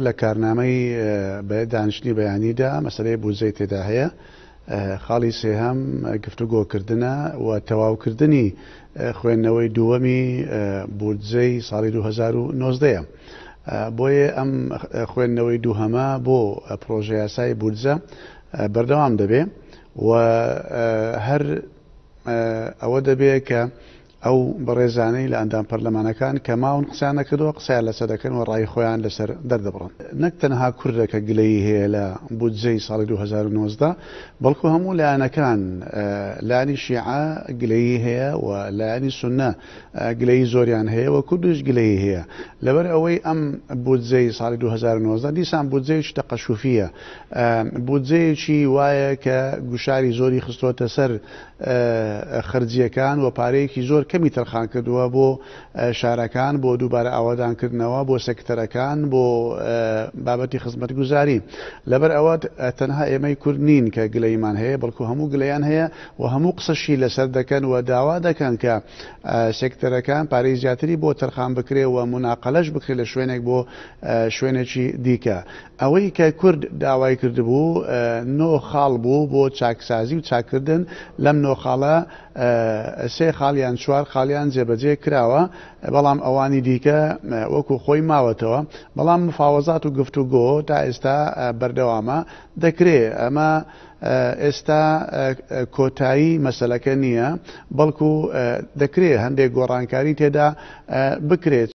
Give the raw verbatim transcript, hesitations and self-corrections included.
لە کارنامەی دانیشتنی بەیانیدا مەسەلەی بودجەی تێدا هەیە. خاڵی سێهەم گفتوگۆکردنە و تەواوکردنی خوێندنەوەی دووەمی بودجەی ساڵی دوو هەزار و نۆزدەیە. بۆیە ئەم خوێندنەوەی دووهەمە بۆ پرۆژە یاسای بودجە بەردەوام دەبێ و هەر ئەوە دەبێ کە ئەو بەڕێزانەی لە ئەندام پەرلەمانەکان کە ماون قسەیان نەکردووە قسەیان لەسەر دەکەن و ڕای خۆیان لەسەر دەردەبڕن. نەک تەنها کوردە کە گلەیی هەیە لە بودجەی ساڵی دوو هەزار و نۆزدە، بەڵکو هەموو لایەنەکان، لایەنی شیعە گلەیی هەیە و لایەنی سوننە گلەیی زۆریان هەیە و کوردیش گلەیی هەیە. لەبەر ئەوەی ئەم بودجەی ساڵی دوو هەزار و نۆزدە دیسان بودجەیەکی تەقەشوفیە، بودجەیەکی وایە کە گوشاری زۆری خستۆتە سەر خرجیەکان و پارەیەکی زۆر کەمی تەرخان کردووە بۆ شارەکان، بۆ دووبارە ئاوادانکردنەوە، بۆ سێکتەرەکان، بۆ بابەتی خزمەتگوزاری. لەبەر ئەوە تەنها ئێمەی کورد نین کە گلەیمان هەیە، بەڵکو هەموو گلەیان هەیە و هەموو قسەشی لەسەر دەکەن و داوا دەکەن کە سێکتەرەکان پارەی زیاتری بۆ تەرخان بکرێ و مناقەلەش بکرێ لە شوێنێک بۆ شوێنێکی دیکە. ئەوەی کە کورد داوای کردبوو نۆ خاڵ بوو بۆ چاکسازی و چاکردن، لەم نۆ خاڵە سێ خاڵیان چوار خاڵیان جێبەجێ کراوە، بەڵام ئەوانی دیکە وەکو خۆی ماوەتەوە. بەڵام مفاوەزات و گفتوگۆ تا ئێستا بەردەوامە دەکرێ. ئەمە ئێستا کۆتایی مەسەلەکە نییە، بەڵکو دەکرێ هەندێک گۆڕانکاری تێدا بکرێت.